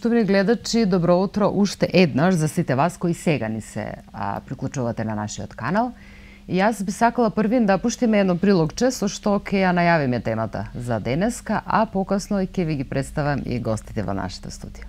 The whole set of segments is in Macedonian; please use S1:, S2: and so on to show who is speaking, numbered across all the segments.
S1: Поштовни гледачи, добро утро уште еднаш за сите вас кои сега ни се приклучувате на нашиот канал. И јас би сакала првин да пуштиме едно прилогче со што ќе ја најавиме темата за денеска, а покасно ќе ви ги представам и гостите во нашето студио.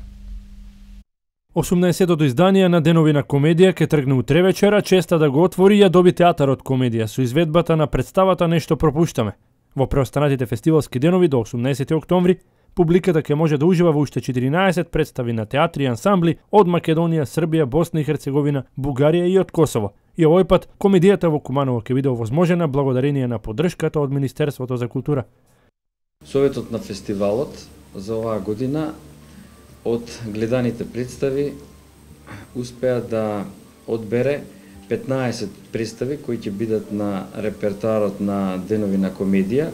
S2: 18-тото издание на Денови на комедија ќе тргне утре вечера, честа да го отвори ја доби театарот комедија со изведбата на представата Нешто пропуштаме. Во преостанатите фестивалски денови до 18 октомври публиката ќе може да ужива во уште 14 представи на театри и ансамбли од Македонија, Србија, Босна и Херцеговина, Бугарија и од Косово. И овој пат комедијата во Куманово ќе биде овозможена благодарение на поддршката од Министерството за култура.
S3: Советот на фестивалот за оваа година од гледаните представи успеа да одбере 15 представи кои ќе бидат на репертоарот на Денови на комедија,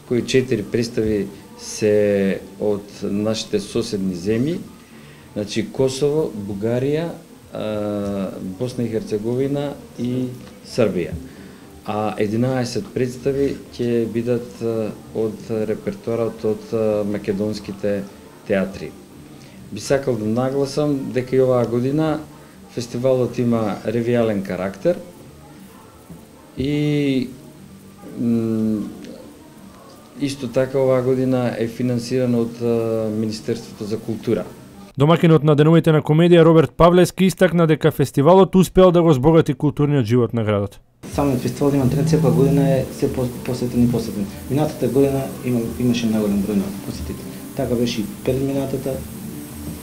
S3: кои 4 представи се од нашите соседни земји, значи Косово, Бугарија, Босна и Херцеговина и Србија. А 11 представи ќе бидат од репертоарот од македонските театри. Би сакал да нагласам дека и оваа година фестивалот има ревијален карактер и исто така оваа година е финансиран од Министерството за култура.
S2: Домакинот на Деновите на комедија Роберт Павлевски истакна дека фестивалот успеал да го збогати културниот живот на градот.
S4: Самиот фестивал има тренд, секоја година е се посетен и посетен. Минатата година имаше најголем број на посетители. Така беше и пред минатата,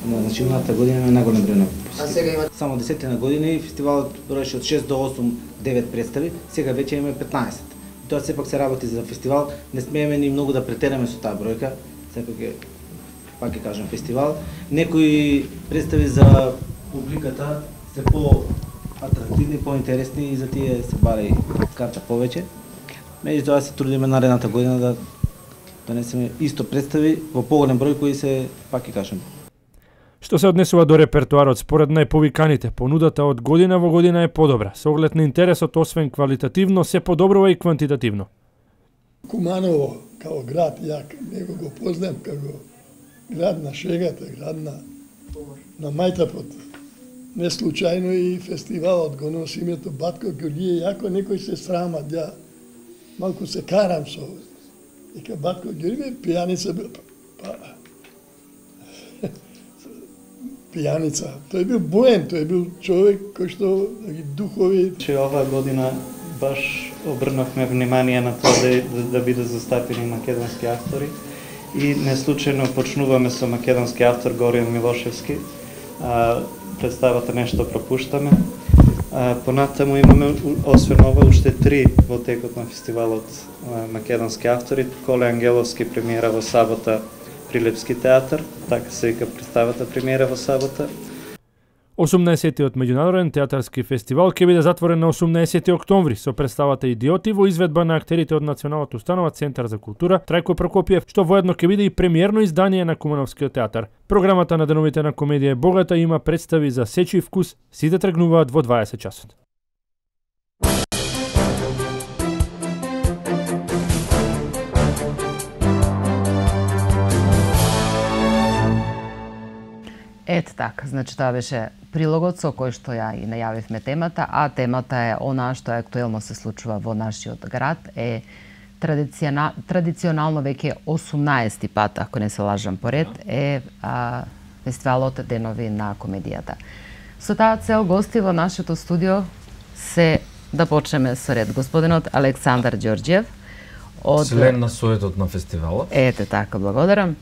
S4: значи минатата година има најголем број на посетители. Само 10 години фестивалот броеше од 6 до 8, 9 представи, сега веќе има 15. Тоа сепак се работи за фестивал, не смееме ни многу да претераме со таа бројка, сепак е, пак ќе кажам, фестивал. Некои представи за публиката се по-атрактивни, по-интересни и за тие се бара и карта повеќе. Меѓутоа се трудиме наредната година да донесеме исто представи во поголем број кои се, пак ќе кажам.
S2: Што се однесува до репертоарот, според најповиканите, понудата од година во година е подобра. Со оглед на интересот, освен квалитативно, се подобрува и квантитативно.
S5: Куманово, као град, ја него го познам како град на шегата, град на мајтапот. Не случајно и фестивалот го носи името Батко Ѓурѓије, јако некој се срама, ја малку се карам со дека Батко Ѓурѓије пијаница бил, пијаница. Тој бил боен, тој бил човек кој што духови.
S6: Че оваа година баш обрнавме внимание на тоа да бидат застапени македонски автори и неслучајно почнуваме со македонски автор Горијан Милошевски. Представата Нешто пропуштаме. Понатаму имаме освен ова уште 3 во текот на фестивалот македонски автори. Коле Ангеловски премиера во сабота при Лепски театар, така се вика представата премиера во сабота.
S2: 18-тиот меѓународен театарски фестивал ќе биде затворен на 18 октомври со представата Идиоти во изведба на актерите од Националната установа Центар за култура Трајко Прокопиев, што воедно ќе биде и премиерно издание на Кумановскиот театар. Програмата на Деновите на комедија е богата, има представи за сечи вкус, сите тргнуваат во 20 часот.
S1: Ет така, значи тоа беше прилогот со кој што ја и најавивме темата, а темата е она што актуелно се случува во нашиот град, е традиционално веќе 18 пат, ако не се лажам поред, е фестивалот Денови на комедијата. Со таа цел гости во нашето студио се да почнеме со ред господинот Александар Ѓорѓиев од
S7: член на советот на фестивалот.
S1: Ете така, благодарам.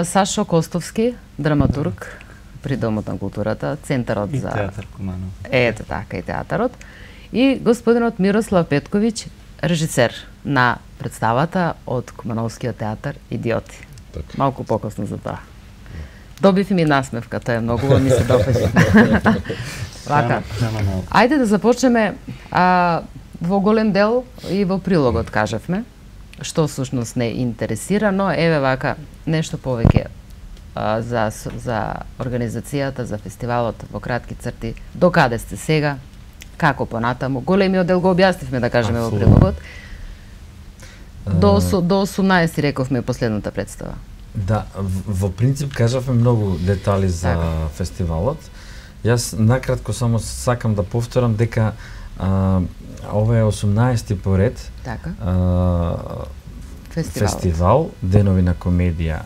S1: Сашо Костовски, драматург при Домот на културата, Центарот за
S6: театар Куманово.
S1: Ете така, и театарот. И господинот Мирослав Петковиќ, режисер на представата од Кумановскиот театар Идиоти.
S7: Так.
S1: Малку покасно за тоа. Добив и ми насмевка, тоа е многу ми се допаѓа. Вака. Ајде да започнеме во голем дел и во прилогот кажавме што всушност не интересира, но еве вака нешто повеќе за организацијата, за фестивалот во кратки црти. До каде сте сега? Како понатаму? Големиот дел го објаснивме, да кажеме, во прилогот. До 18 рековме последната представа.
S7: Да, во принцип кажавме многу детали за фестивалот. Јас накратко само сакам да повторам дека ова е 18-ти поред фестивал Денови на комедија.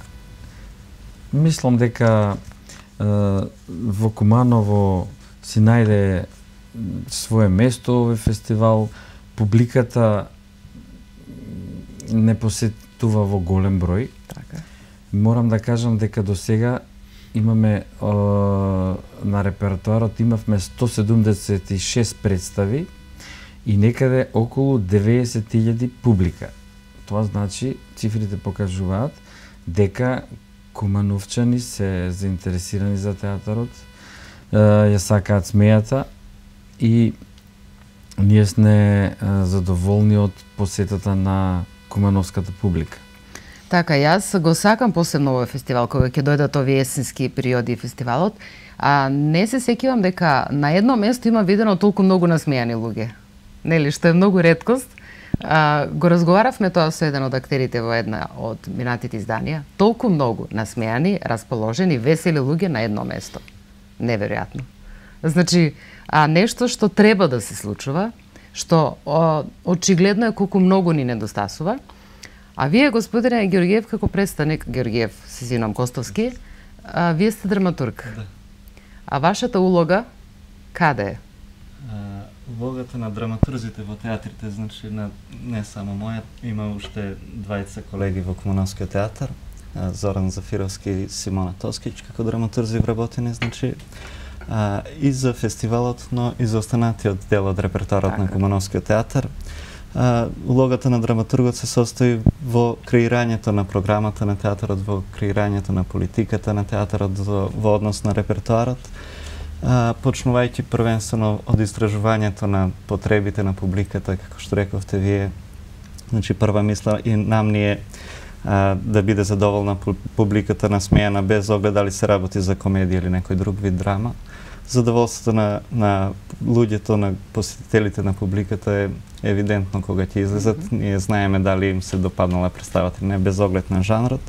S7: Мислам дека во Куманово си најде свое место овој фестивал. Публиката не посетува во голем број. Морам да кажам дека до сега имаме на репертоарот имавме 176 представи и некаде околу 90.000 публика. Тоа значи, цифрите покажуваат дека кумановчани се заинтересирани за театарот, ја сакаат смејата и ние сме задоволни од посетата на кумановската публика.
S1: Така, јас го сакам посебно овој фестивал, кога ќе дојдат овие есенски периоди фестивалот, а не се сеќавам дека на едно место има видено толку многу насмејани луѓе. Нели, што е многу реткост. Го разговаравме тоа со еден од актерите во една од минатите изданија. Толку многу насмејани, расположени, весели луѓе на едно место. Неверојатно. Значи, нешто што треба да се случува, што очигледно е колку многу ни недостасува. А вие, господине Георгиев, како представник, Георгиев, се извинувам, Костовски, вие сте драматург.
S6: Да.
S1: А вашата улога каде е?
S6: Улогата на драматурзите во театрите, значи не само моја, има уште двајца колеги во Кумановскиот театар, Зоран Зафировски и Симона Тоскич како драматурзи вработени, значи и за фестивалот, но и за останатиот дел од репертоарот на Кумановскиот театар. Улогата на драматургот се состои во креирањето на програмата на театарот, во креирањето на политиката на театарот, во однос на репертоарот, почнувајќи првенствено од истражувањето на потребите на публиката, како што рековте вие. Значи, прва мисла и нам ни е да биде задоволна публиката насмејана без оглед дали се работи за комедија или некој друг вид драма. Задоволството на луѓето, на посетителите на публиката е евидентно кога ќе излезат. Ние знаеме дали им се допаднала представата или не, без оглед на жанрот.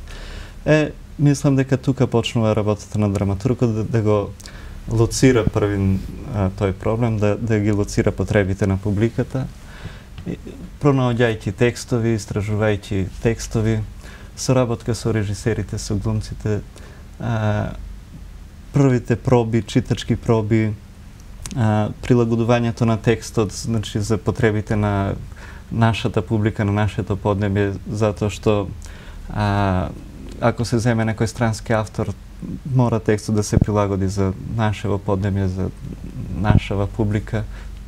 S6: Мислам дека тука почнува работата на драматургот да го лоцира првин тој проблем, да ги лоцира потребите на публиката, пронаоѓајќи текстови, истражувајќи текстови, соработка со режисерите, со глумците, првите проби, читачки проби, прилагодувањето на текстот, значи за потребите на нашата публика, на нашето поднебје, затоа што ако се земе некој странски автор, мора текстот да се прилагоди за нашево поднебје, за нашава публика.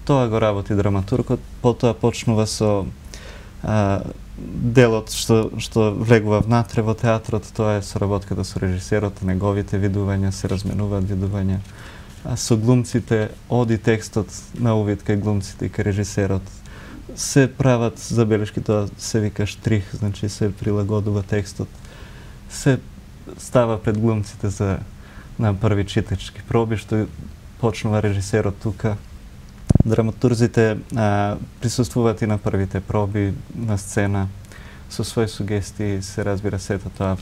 S6: Тоа го работи драматургот, потоа почнува со делот што влегува внатре во театрот, тоа е соработката со режисерот, неговите видувања, се разменуваат видувања. Со глумците, оди текстот на увид кај глумците и кај режисерот. Се прават забелешки, тоа се вика штрих, значи се прилагодува текстот. Се става пред глумците на први читачки проби, што почнува режисерот тука. Драматурзите присуствуваат и на првите проби на сцена со своји сугестии, се разбира сето тоа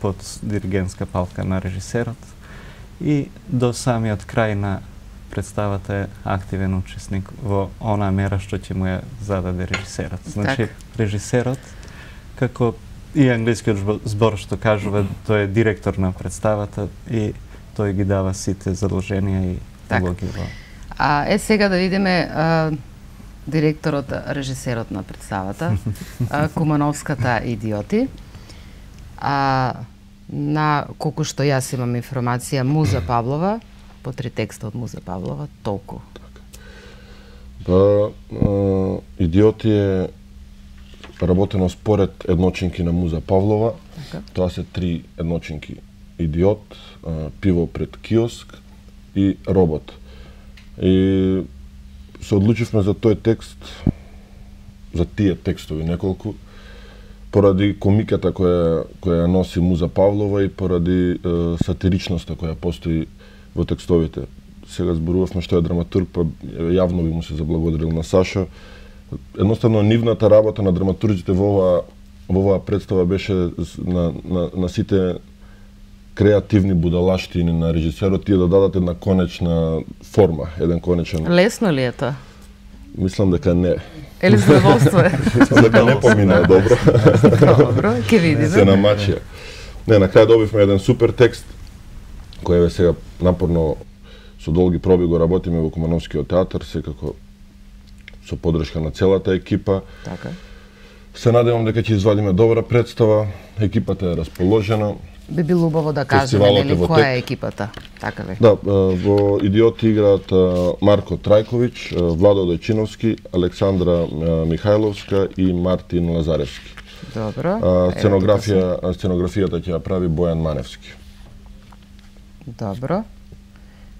S6: под диригентска палка на режисерот. И до самиот крај на представата е активен учесник во онаа мера што ќе му ја зададе режисерот. Значи, режисерот, како и англискиот збор што кажува, тој е директор на представата и тој ги дава сите задолженија и улоги во.
S1: Сега да видиме директорот, режисерот на представата, Кумановската идиоти. На колку што јас имам информација, Муза Павлова, по 3 текста од Муза Павлова, толку.
S8: Идиоти е работено според едночинки на Муза Павлова. Тоа се 3 едночинки. Идиот, пиво пред киоск и робот. И се одлучивме за тој текст, за тие текстови неколку, поради комиката која носи Муза Павлова и поради сатиричноста која постои во текстовите. Сега зборувавме што е драматург, па јавно би му се заблагодарил на Сашо. Едноставно нивната работа на драматургите во оваа во оваа представа беше на сите креативни будалаштини на режисерот тие да дадат една конечна форма, еден конечен...
S1: Лесно ли е тоа?
S8: Мислам дека не.
S1: Или задоволство е?
S8: Мислам дека не помина добро.
S1: Добро, ќе видиме.
S8: Се намачија. Не, на крај добивме еден супер текст, кој е сега напорно со долги проби го работиме во Кумановскиот театар, секако со подршка на целата екипа.
S1: Така.
S8: Се надевам дека ќе извадиме добра представа, екипата е расположена.
S1: Би било убаво да кажеме, нели, која е екипата, така ли?
S8: Да, во Идиоти играат Марко Трајковиќ, Владо Дојчиновски, Александра Михајловска и Мартин Лазаревски.
S1: Добро.
S8: Сценографијата ќе ја прави Бојан Маневски.
S1: Добро.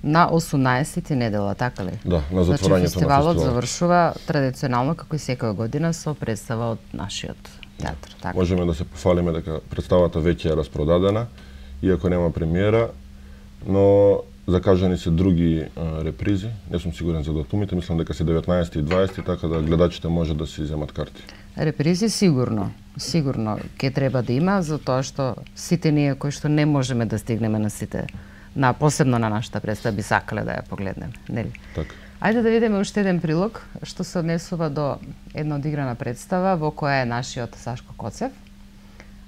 S1: На 18 недела, така ли?
S8: Да, на затворањето на
S1: фестивалот завршува традиционално како и секоја година со представа од нашиот театар. Така.
S8: Можеме да се пофалиме дека представата веќе е распродадена, иако нема премиера, но закажани се други репризи. Не сум сигурен за датумите, мислам дека се 19 и 20, така да гледачите може да си земат карти.
S1: Репризи сигурно ќе треба да има, затоа што сите ние кои што не можеме да стигнеме на сите, посебно на нашата представа, би сакале да ја погледнеме, нели?
S8: Така.
S1: Ајде да видиме уште еден прилог што се однесува до една одиграна представа во која е нашиот Сашко Коцев.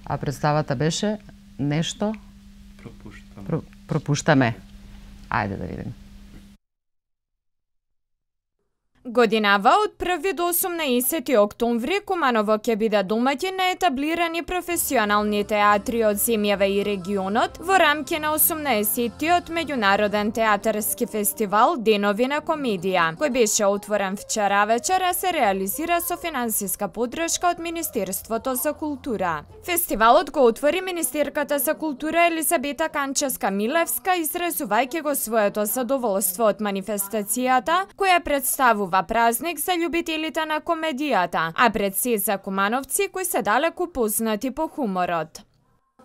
S1: А представата беше нешто пропуштаме. Ајде да видиме.
S9: Годинава од 1 до 18 октомври Куманово ќе биде домаќин на етаблирани професионални театри од земјава и регионот во рамки на 18-тиот меѓународен театарски фестивал Денови на комедија, кој беше отворен вчера вечер, а се реализира со финансиска поддршка од Министерството за култура. Фестивалот го отвори министерката за култура Елизабета Канчевска-Милевска, изразувајќи го своето задоволство од манифестацијата, која представува празник за љубителите на комедијата, а пред се за кумановци кои се далеку познати по хуморот.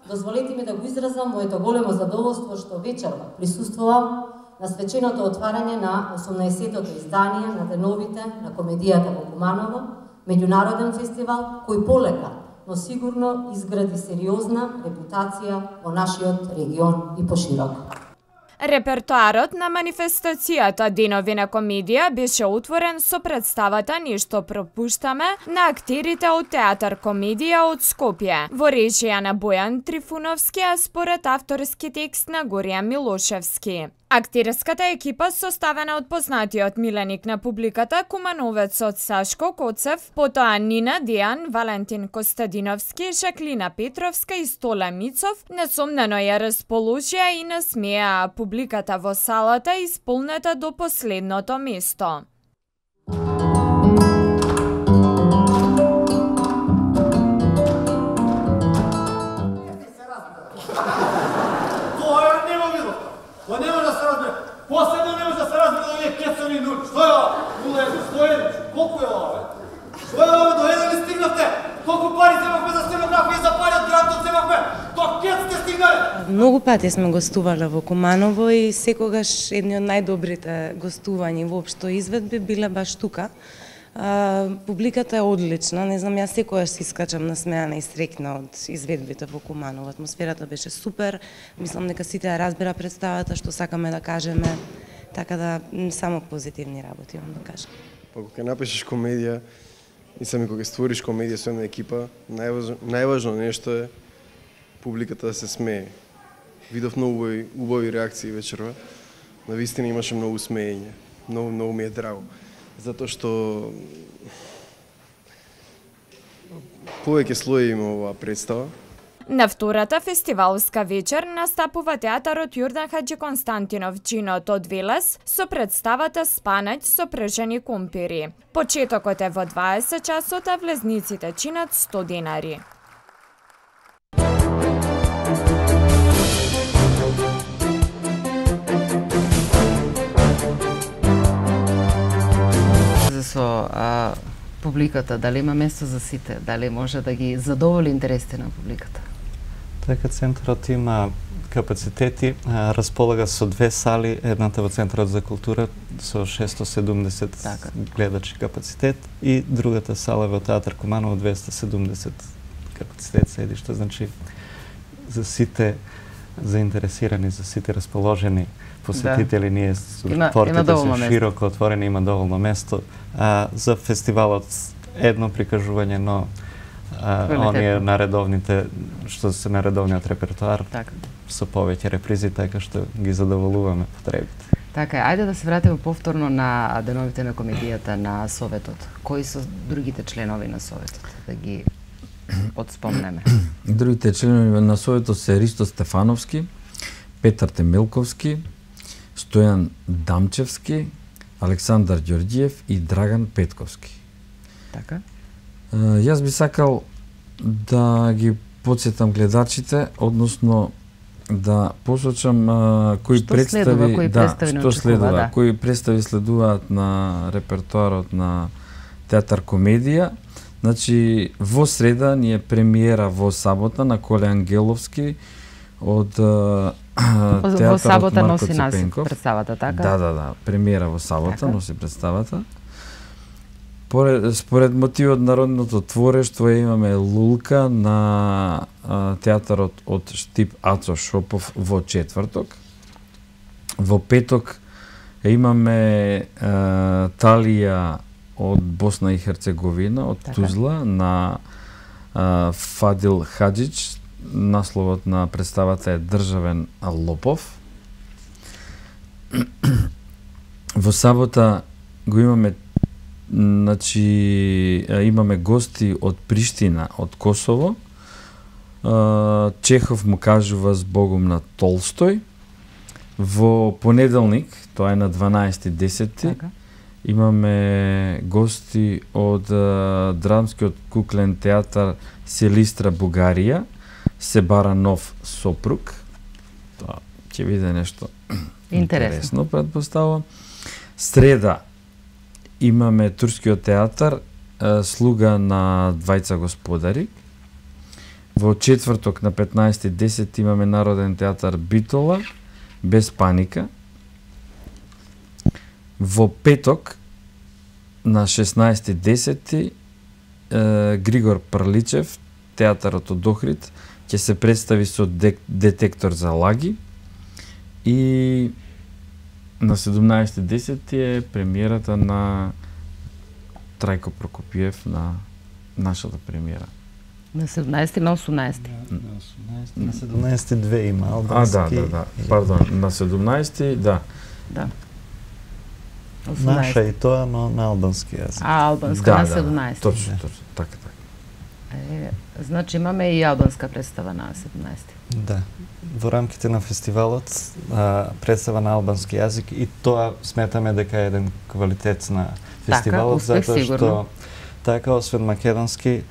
S10: Дозволете ми да го изразам моето големо задоволство што вечерва присуствувам на свеченото отварање на 18-тото издание на Деновите на комедијата во Куманово, меѓународен фестивал кој полека, но сигурно изгради сериозна репутација во нашиот регион и пошироко.
S9: Репертоарот на манифестацијата Денови на комедија беше отворен со представата Нешто пропуштаме на актерите од Театар Комедија од Скопје, во режија на Бојан Трифуновски, а според авторски текст на Горијан Милошевски. Актерската екипа составена од познатиот миленик на публиката кумановецот Сашко Коцев, потоа Нина Дејан, Валентин Костадиновски, Жаклина Петровска и Стола Мицов, несомнено ја расположија и насмеа публиката во салата исполнета до последното место.
S11: Последно не може да се разбере да вие кецани нули. Што е ова? 0,1, колку е ова, бе? Што е ова, до еден ли стигнавте? Колку пари земавме за сценографија, за пари од грантот земавме? До кец сте стигнале?
S12: Многу пати сме гостувале во Куманово и секогаш едни од најдобрите гостувања воопшто изведби биле баш тука. Публиката е одлична, не знам, јас секојаш се искачам насмеана и среќна од изведбите во Куманово. Атмосферата беше супер, мислам дека сите ја разбира представата што сакаме да кажеме, така да само позитивни работи имам да кажам.
S13: Па кога напишеш комедија и сами кога створиш комедија со една екипа, најважно нешто е публиката да се смее. Видов многу убави реакции вечерва, навистина имаше многу смеење, многу ми е драго. Затоа што повеќе слои има оваа представа.
S9: На втората фестивалска вечер настапува театарот Јордан Хаџи Константинов Джинот од Велес со представата Спанаќ со пржени компири. Почетокот е во 20 часот, а влезниците чинат 100 денари.
S1: Со публиката, дали има место за сите, дали може да ги задоволи интересите на публиката?
S6: Дека центарот има капацитети, располага со 2 сали, едната во Центарот за култура со 670 гледачи капацитет и другата сала во Театар Куманово 270 капацитет седишта, значи за сите заинтересирани, за сите расположени посетители, ние портите се широко отворени, има доволно место. За фестивалот едно прикажување, но оние наредовните, што се наредовниот репертоар, со повеќе репризи, така што ги задоволуваме потребите.
S1: Така е, ајде да се вратиме повторно на деновите на комедијата на Советот. Кои се другите членови на Советот? Да ги подспомнеме.
S7: Другите членови на Советот се Ристо Стефановски, Петар Темелковски, Стојан Дамчевски, Александар Ѓорѓиев и Драган Петковски.
S1: Така?
S7: Јас би сакал да ги подсетам гледачите, односно да посочам кои представи, што следува, кои представи следуваат на репертоарот на театар комедија. Значи, во среда ни е премиера во сабота на Коле Ангеловски од театарот Марко Цепенков.
S1: Представата, така?
S7: Да, премиера во сабота, носи представата. Според мотивот народното творештво имаме Лулка на театарот од Штип Ацо Шопов во четврток. Во петок имаме Талија од Босна и Херцеговина, од Тузла, на Фадил Хаджич. Насловот на представата е Државен лопов. Во сабота го имаме, значи, имаме гости од Приштина, од Косово. Чехов му кажува збогум на Толстој. Во понеделник, тоа е на 12.10, имаме гости од драмскиот куклен театар Селистра Бугарија, Себара нов сопруг. Тоа ќе биде нешто интересно, предпоставувам. Среда имаме турскиот театар Слуга на двајца господари. Во четврток на 15.10 имаме Народен театар Битола, Без паника. Во петок на 16.10 Григор Прличев, театарот од Охрид, ќе се представи со детектор за лаги. И на 17.10 е премиерата на Трајко Прокопиев, на нашата премиера.
S1: На 17 на 18.
S6: На 17 две има албански.
S7: Да. Пардон, на 17, да.
S6: Наша и тоа, но на албански јазик.
S1: Албанска на 17.
S7: Точно, така.
S1: Значи имаме и албанска представа на 17.
S6: Да. Во рамките на фестивалот представа на албански јазик, и тоа сметаме дека е еден квалитет на фестивалот, затоа што така, освен македонски,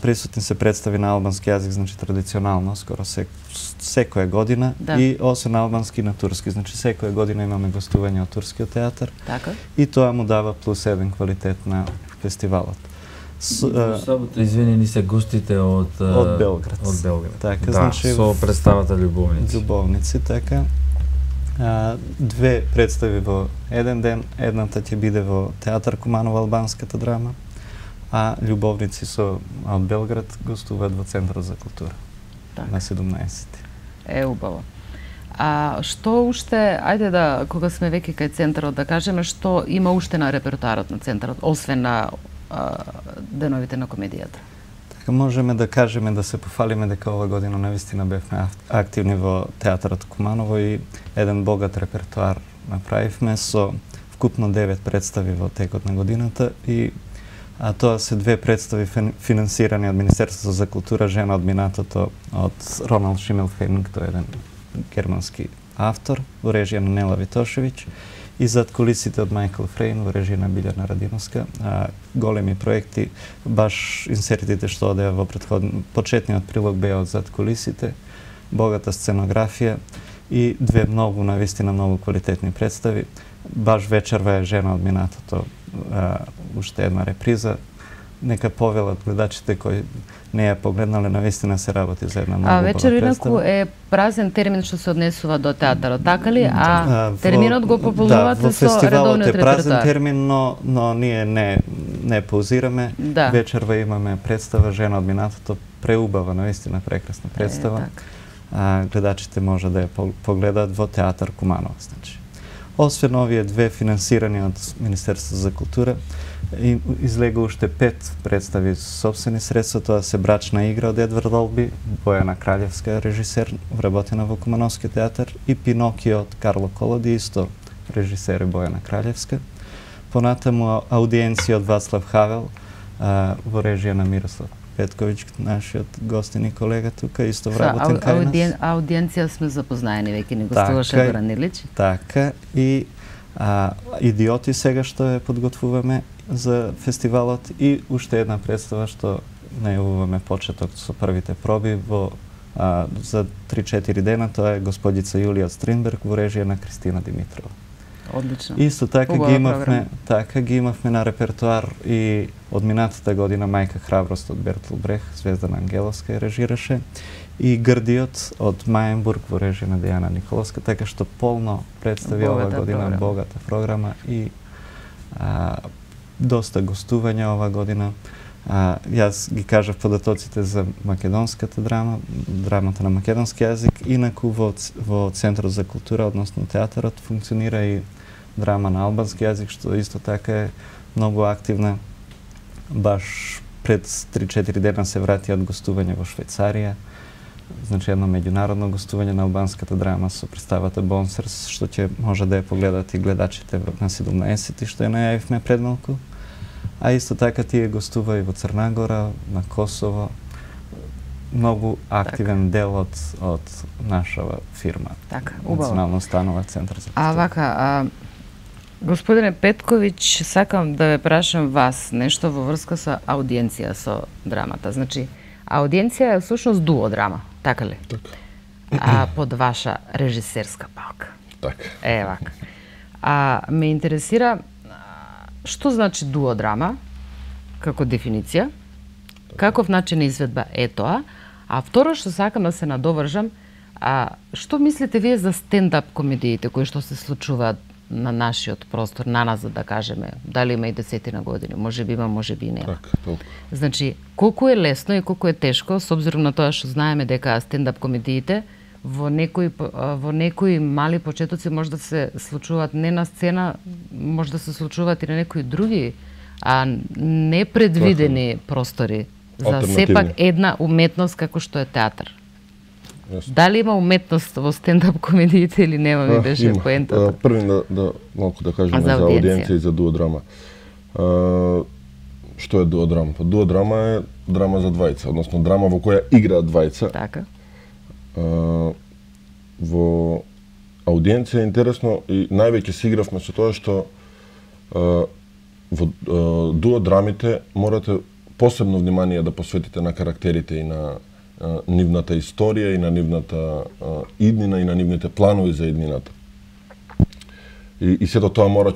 S6: присутни се представи на албански јазик, значи традиционално, скоро секоја година, и освен албански на турски, значи секоја година имаме гостување од турскиот театар, и тоа му дава плюс еден квалитет на фестивалот.
S7: Извини, ни се гостите од
S6: Белград. Така, значи,
S7: со представата Љубовници.
S6: Љубовници, така. Две представи во еден ден, едната ќе биде во театар Куманово, албанската драма, а Љубовници од Белград гостуваат во Центарот за култура на 17.
S1: Убаво. Што уште, ајде да, кога сме веќе кај Центарот, да кажеме што има уште на репертоарот на Центарот, освен на деновите на комедијата?
S6: Така, можеме да кажеме, да се пофалиме дека ова година навистина бевме активни во театарот Куманово и еден богат репертоар направивме со вкупно 9 представи во текот на годината, и тоа се две представи финансирани од Министерството за култура, Жена од минатото, од Роналд Шимелфенинг, тој е еден германски автор, во режија на Нела Витошевиќ, и зад кулисите од Мајкл Фрейн, во режија на Билјана Радиновска. Големи проекти, баш инсертите што одеа во почетниот прилог беа од зад кулисите, богата сценографија и две навистина многу квалитетни представи. Баш вечерва е Жена од минатото, уште една реприза. Нека повелат гледачите кои не ја погледнале, навистина се работи за една многу убава представа.
S1: Вечер инаку е празен термин што се однесува до театарот, така ли? Терминот го пополнувате со редовниот репертоар?
S6: Во фестивалот е празен термин, но ние не паузираме. Вечерва имаме представа Жена од минатото, преубава, наистина прекрасна представа. Гледачите може да ја погледаат во Театар Куманово. Значи, освен овие две финансирани од Министерството за култура, излега уште 5 представи со собствени средства. Тоа се Брачна игра од Едвард Олби, Бојана Краљевска режисер, вработена во Кумановски театар, и Пинокио од Карло Колоди, исто режисер е Бојана Краљевска. Понатаму аудиенција од Вацлав Хавел во режија на Мирослав Петковиќ, нашиот гостин и колега тука, исто вработен кај нас.
S1: Аудиенција сме запознаени, веќе ни гостуваше Горан Илич.
S6: Така, и Идиоти сега што ја подготвуваме за фестивалот, и уште една представа што најавуваме почеток со првите проби за 3-4 дена, тоа е Господица Јулија од Стринберг во режија на Кристина Димитрова.
S1: Одлично.
S6: Исто така ги имавме на репертуар и од минатата година Мајка храброст од Бертол Брех, Звездана Ангеловска ја режираше, и Грдиот од Мајенбург во режија на Дејана Николовска, така што полно представи ова година, богата програма и доста гостувања ова година. Јас ги кажав податоците за македонската драма, драмата на македонски јазик, инаку во Центрот за култура, односно театарот, функционира и драма на албански јазик, што исто така е многу активна. Баш пред 3-4 дена се врати од гостување во Швајцарија, значи едно меѓународно гостување на албанската драма со представата Бонсерс, што ќе може да ја погледат и гледачите на 17, што ја најавивме пред малку. А исто така тие гостува и во Црна Гора, на Косово. Многу активен дел од нашава фирма.
S1: Така, убаво.
S6: Национално установа Центар за култура.
S1: Вака, господине Петковиќ, сакам да ве прашам вас нешто во врска со аудиенција со драмата. Значи, аудиенција е всушност дуо драма, така ли? Така. Под ваша режисерска палка.
S8: Така.
S1: Вака. Ме интересира што значи дуо драма како дефиниција, каков начин изведба е тоа, а второ што сакам да се надовржам, што мислите вие за стендап комедиите кои што се случуваат на нашиот простор, на нас, да кажеме, дали има и 10 години, може би има, може би нема. Значи, колку е лесно и колку е тешко, с обзиром на тоа што знаеме дека стендап комедиите во некои мали почетоци може да се случуваат не на сцена, може да се случуваат и на некои други непредвидени простори за сепак една уметност како што е театар. Дали има уметност во стендап комедиите или нема, ми беше поентата?
S8: Први да малку да кажеме за аудиенција и за дуодрама. Што е дуодрама? Дуодрама е драма за двајца, односно драма во која играат двајца.
S1: Така.
S8: Во аудиенција е интересно и највеќе се игравме со тоа што во дуодрамите морате посебно внимание да посветите на карактерите и на нивната историја и на нивната иднина и на нивните планови за иднината. И сето тоа мора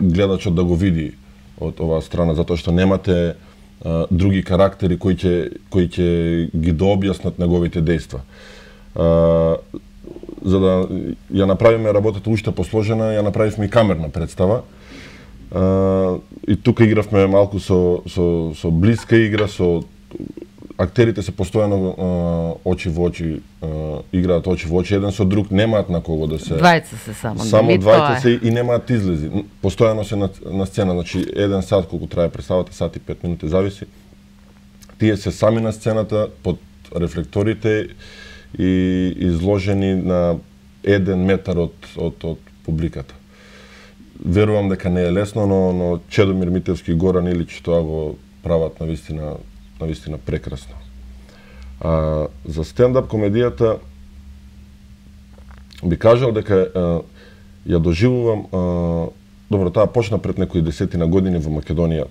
S8: гледачот да го види од оваа страна, затоа што немате други карактери кои ќе ги дообјаснат неговите дејства. За да ја направиме работата уште посложена, ја направивме и камерна представа. И тука игравме малку со блиска игра, со актерите се постојано очи во очи, играат очи во очи, еден со друг, немаат на кого да се...
S1: Двајца се само.
S8: Само двајца се и немаат излези. Постојано се на сцена, значи 1 сат колку трае представата, сат и 5 минути, зависи. Тие се сами на сцената, под рефлекторите и изложени на 1 метар од публиката. Верувам дека не е лесно, но Чедомир Митевски и Горан Илич тоа го прават навистина прекрасно. За стендап комедијата би кажал дека ја доживувам, добро, таа почна пред некои 10 години во Македонија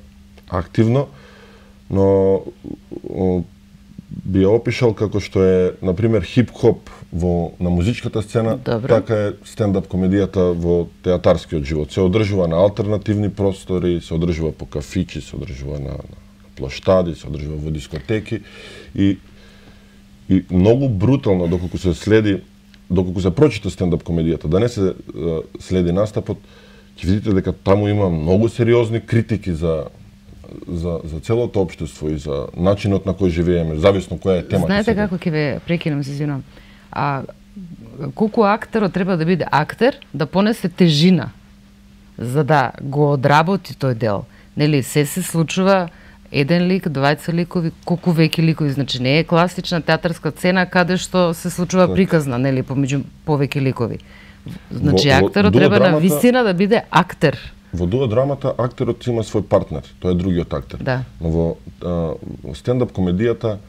S8: активно, но би ја опишал како што е, например, хип-хоп на музичката сцена, така е стендап комедијата во театарскиот живот. Се одржува на алтернативни простори, се одржува по кафичи, се одржува на плоштади, се одржува во дискотеки и многу брутално доколку се прочита стендап комедијата, да не се следи настапот, ќе видите дека таму има многу сериозни критики за за целото општество и за начинот на кој живееме, зависно која е темата.
S1: Знаете како ќе ве прекинам, се извинувам. Колку актерот треба да биде актер, да понесе тежина за да го одработи тој дел. Нели, се случува еден лик, двајца ликови, колку веќе ликови, значи не е класична театарска сцена каде што се случува приказна, нели, помеѓу повеќе ликови. Значи актерот треба на вистина да биде актер.
S8: Во дуодрамата актерот има свој партнер, тој е другиот актер.
S1: Да.
S8: Но во стендап комедијата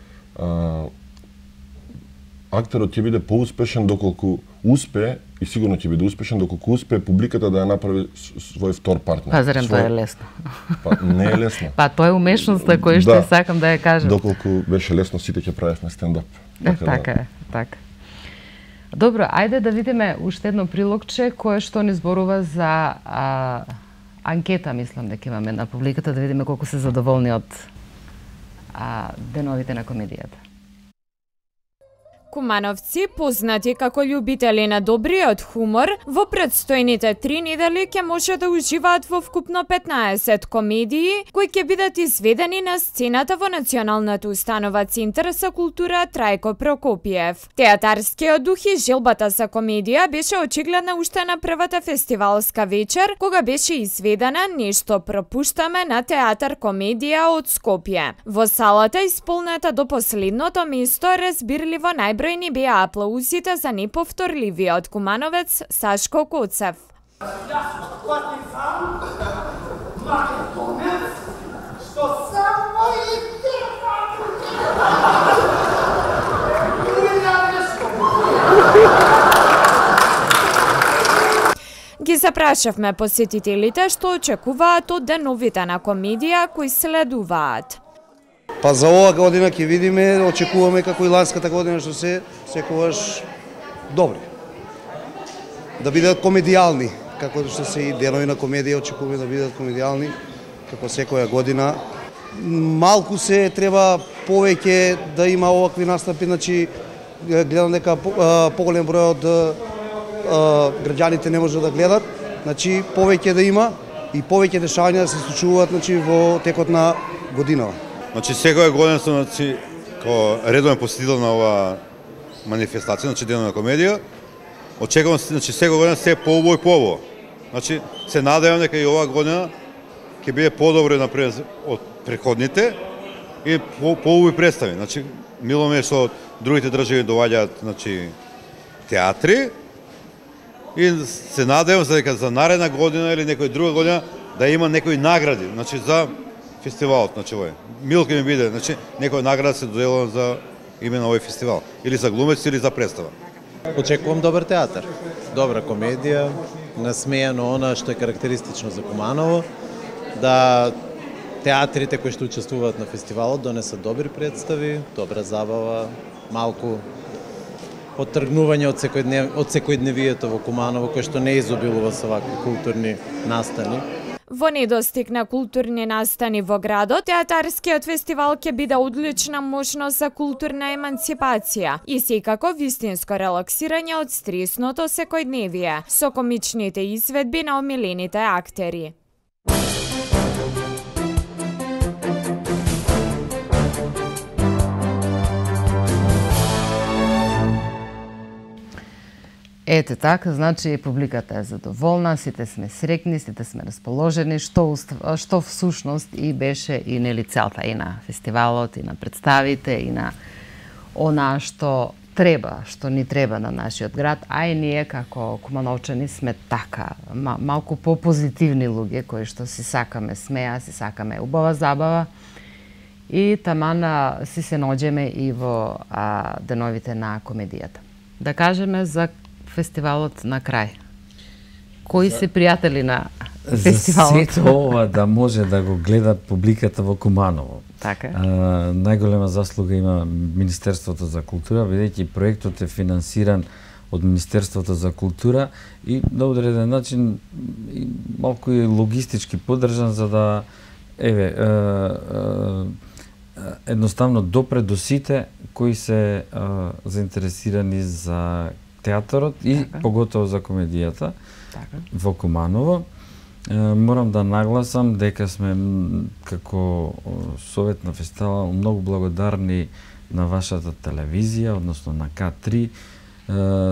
S8: актерот ќе биде поуспешен доколку успее, и сигурно ќе биде успешен доколку успее публиката да ја направи свој втор партнер.
S1: Па зарем тоа е лесно?
S8: Па не е лесно.
S1: Па тоа е умешноста која што сакам да ја кажам.
S8: Доколку беше лесно, сите ќе правевме стендап.
S1: Така е, така. Добро, ајде да видиме уште едно прилогче кое што ни зборува за анкета, мислам дека имаме на публиката, да видиме колку се задоволни од деновите на комедијата.
S9: Кумановци, познати како љубители на добриот хумор, во предстојните 3 недели ќе може да уживаат во вкупно 15 комедии кои ќе бидат изведени на сцената во Националната установа Центар за култура Трајко Прокопиев. Театарскиот дух и желбата за комедија беше очигледна уште на првата фестивалска вечер, кога беше изведена Нешто пропуштаме на театар комедија од Скопје. Во салата исполнета до последното место разбирливо најбројни беа аплаузите за неповторливиот кумановец Сашко Коцев. Ги запрашавме посетителите што очекуваат од деновите на комедија кои следуваат.
S14: Па за оваа година ќе видиме, очекуваме како и ланската година што се секогаш добри. Да бидат комедијални, како што се и денови на комедија очекуваме да бидат комедијални, како секоја година. Малку се треба повеќе да има овакви настапи, значи гледам дека поголем број од граѓаните не може да гледат, значи повеќе да има и повеќе дешавања да се случуваат значи во текот на годинава.
S15: Значи секоја година сум како редовен посетител на оваа манифестација, значи денот на комедија. Очекувам значи секоја година се поубаво и поубаво. Значи се надевам дека и оваа година ќе биде подобро напред од претходните и поубави представи. Значи мило ми е што од другите држави доаѓаат значи театри и се надевам дека за наредна година или некоја друга година да има некои награди, значи за фестивалот, значи овој. Мило ќе ми биде, значи некоја награда се доделува за именно овој фестивал, или за глумец или за представа.
S16: Очекувам добар театар, добра комедија, насмејано она што е карактеристично за Куманово, да театрите кои што учествуваат на фестивалот донесат добри представи, добра забава, малку оттргнување од секојдневието во Куманово кој што не изобилува со вакви културни настани.
S9: Во недостиг на културни настани во градот, театарскиот фестивал ќе биде одлична можност за културна емансипација и секако вистинско релаксирање од стресното секојдневие со комичните изведби на омилените актери.
S1: Ете така, значи публиката е задоволна, сите сме срекни, сите сме расположени, што всушност и беше и нели целта и на фестивалот, и на представите, и на она што треба, што ни треба на нашиот град, а и ние како кумановчани сме така, малку по-позитивни луѓе кои што си сакаме смеа, си сакаме убава забава и тамана си се наоѓеме и во деновите на комедијата. Да кажеме за фестивалот на крај. Кои се пријатели на фестивалот?
S7: За сето ова да може да го гледа публиката во Куманово.
S1: Така.
S7: Најголема заслуга има Министерството за култура, бидејќи проектот е финансиран од Министерството за култура и на одреден начин малку и логистички поддржан за да едноставно допре до сите кои се заинтересирани за театарот и поготово за комедијата во Куманово. Морам да нагласам дека сме како Совет на фестивалот многу благодарни на вашата телевизија, односно на К3,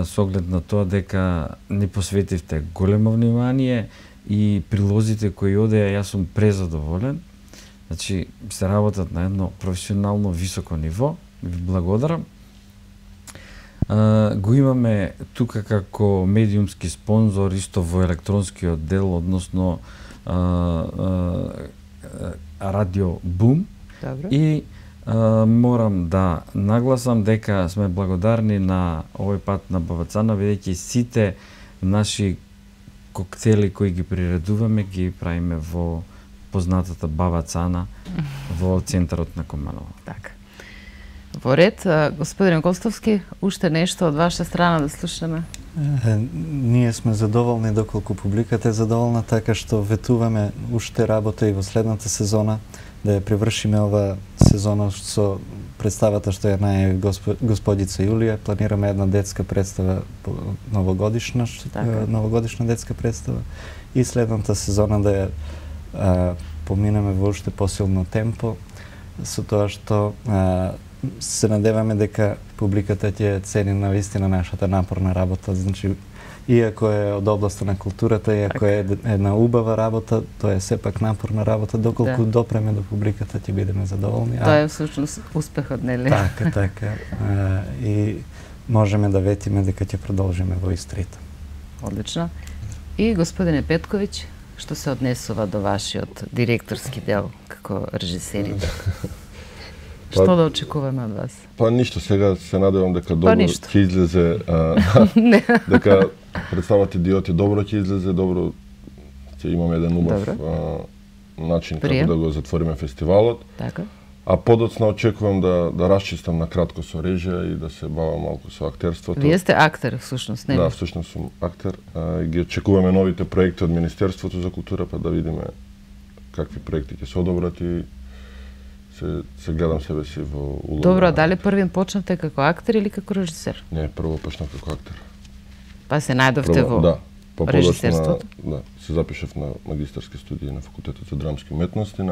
S7: со оглед на тоа дека ни посветивте големо внимание и прилозите кои одеа, јас сум презадоволен. Значи, се работат на едно професионално високо ниво. Ви благодарам. Го имаме тука како медиумски спонзор исто во електронскиот дел, односно Радио Бум.
S1: Добро.
S7: И морам да нагласам дека сме благодарни на овој пат на Бавацана, бидејќи сите наши коктели кои ги приредуваме ги правиме во познатата Бавацана во центарот на Куманово.
S1: Така. Во ред, господин Костовски, уште нешто од ваша страна да слушнеме?
S6: Ние сме задоволни доколку публиката е задоволна, така што ветуваме уште работа и во следната сезона, да ја привршиме ова сезона со представата што ја најави господица Јулија. Планираме една детска представа новогодишна, новогодишна детска представа и следната сезона да ја поминеме во уште посилно темпо, со тоа што се надеваме дека публиката ќе цени навистина нашата напорна работа. Значи, иако е од областа на културата, иако е една убава работа, тоа е сепак напорна работа, доколку допреме до публиката ќе бидеме задоволни.
S1: Тоа е всушност успехот, нели?
S6: Така. И можеме да ветиме дека ќе продолжиме во истрите.
S1: Одлично. И господине Петковиќ, што се однесува до вашиот директорски дел како режисерите? Што да очекуваме од вас?
S8: Па ништо, сега се надевам дека добро ќе излезе, дека представата Идиоти добро ќе излезе, добро ќе имаме еден убав начин како да го затвориме фестивалот.
S1: Така.
S8: А подоцна очекувам да расчистам на кратко со режија и да се бавам малку со актерството.
S1: Вие сте актер всушност, нели?
S8: Да, всушност сум актер. Ги очекуваме новите проекти од Министерството за култура, па да видиме какви проекти ќе се одобрат и се гледам себе си во улога.
S1: Добро, а дали првин почнавте како актер или како режисер?
S8: Не, прво почнав како актер.
S1: Па се најдовте во режисерството?
S8: Да, се запишав на магистарски студии на Факултетот за драмски уметности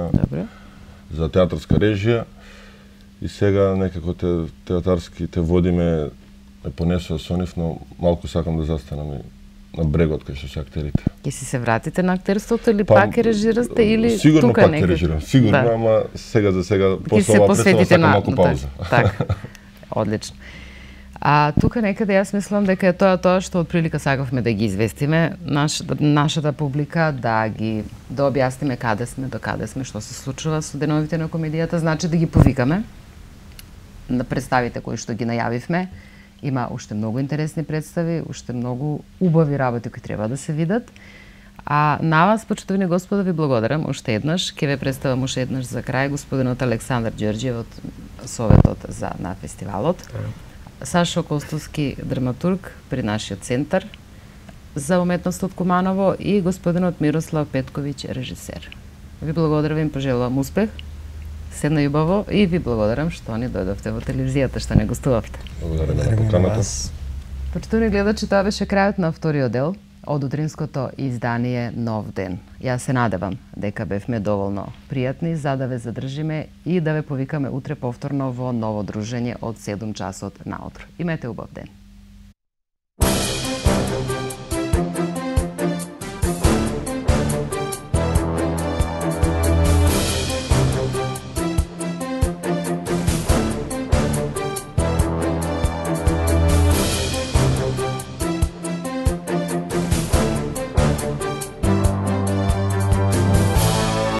S8: за театарска режија и сега некако театарски водиме понесува со нив, но малку сакам да застанам и на брегот кај што се актерите.
S1: Ќе си се вратите на актерството или пак ќе режирате или тука некако?
S8: Сигурно пак ќе режирам, сигурно, ама сега за сега после ова представа сакам малку пауза.
S1: Така, одлично. А тука некаде јас мислам дека е тоа што од прилика сакавме да ги известиме нашата публика, да објасниме каде сме, до каде сме, што се случува со деновите на комедијата, значи да ги повикаме на представите кои што ги најавивме. Има уште многу интересни представи, уште многу убави работи кои треба да се видат. А на вас, почитувани господа, ви благодарам уште еднаш. Ке ве представам уште еднаш за крај господинот Александар Ѓорѓиев од Советот на фестивалот. Сашо Костовски, драматург при нашиот центар за уметност од Куманово и господинот Мирослав Петковиќ, режисер. Ви благодарам и им пожелувам успех. Седна љубаво и ви благодарам што ни дојдовте во телевизијата, што не гостувавте.
S8: Благодарам на поканата.
S1: Почитувани гледачи, тоа беше крајот на вториот дел од утринското издание Нов ден. Јас се надевам дека бевме доволно пријатни за да ве задржиме и да ве повикаме утре повторно во ново дружење од 7 часот наутро. Имете убав ден.